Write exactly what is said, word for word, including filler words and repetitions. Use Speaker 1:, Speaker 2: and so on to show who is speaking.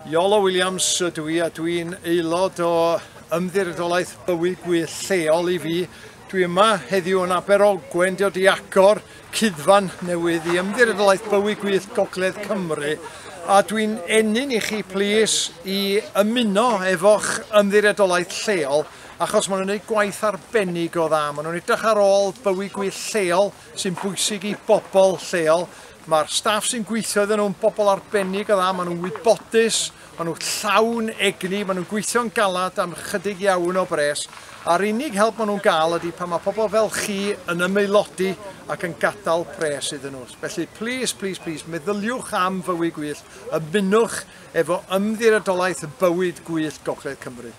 Speaker 1: Iolo Williams ydw i a dwi'n aelod o Ymddiriedolaeth Bywyd Gwyllt lleol i fi. Dwi yma heddiw yn Aberogwen, dod i agor cuddfan newydd i Ymddiriedolaeth Bywyd Gwyllt Gogledd Cymru. A dwi'n ennyn i chi plis i ymuno efo'ch ymddiriedolaeth lleol, achos maen nhw'n gwneud gwaith arbennig o dda. Maen nhw'n edrych ar ôl bywyd gwyllt lleol sy'n bwysig i bobl lleol. Mae'r staff sy'n gweithio iddyn nhw'n bobl arbennig o dda, maen nhw'n wybodus, maen nhw'n llawn egni, maen nhw'n gweithio'n galad am chydig iawn o bres. A'r unig help maen nhw'n gael ydy pan mae pobl fel chi yn ymaelodi ac yn gadael pres iddyn nhw. Felly, plis, plis, plis, meddyliwch am fywyd gwyllt, ymunwch efo Ymddiriedolaeth Bywyd Gwyllt Gogledd Cymru.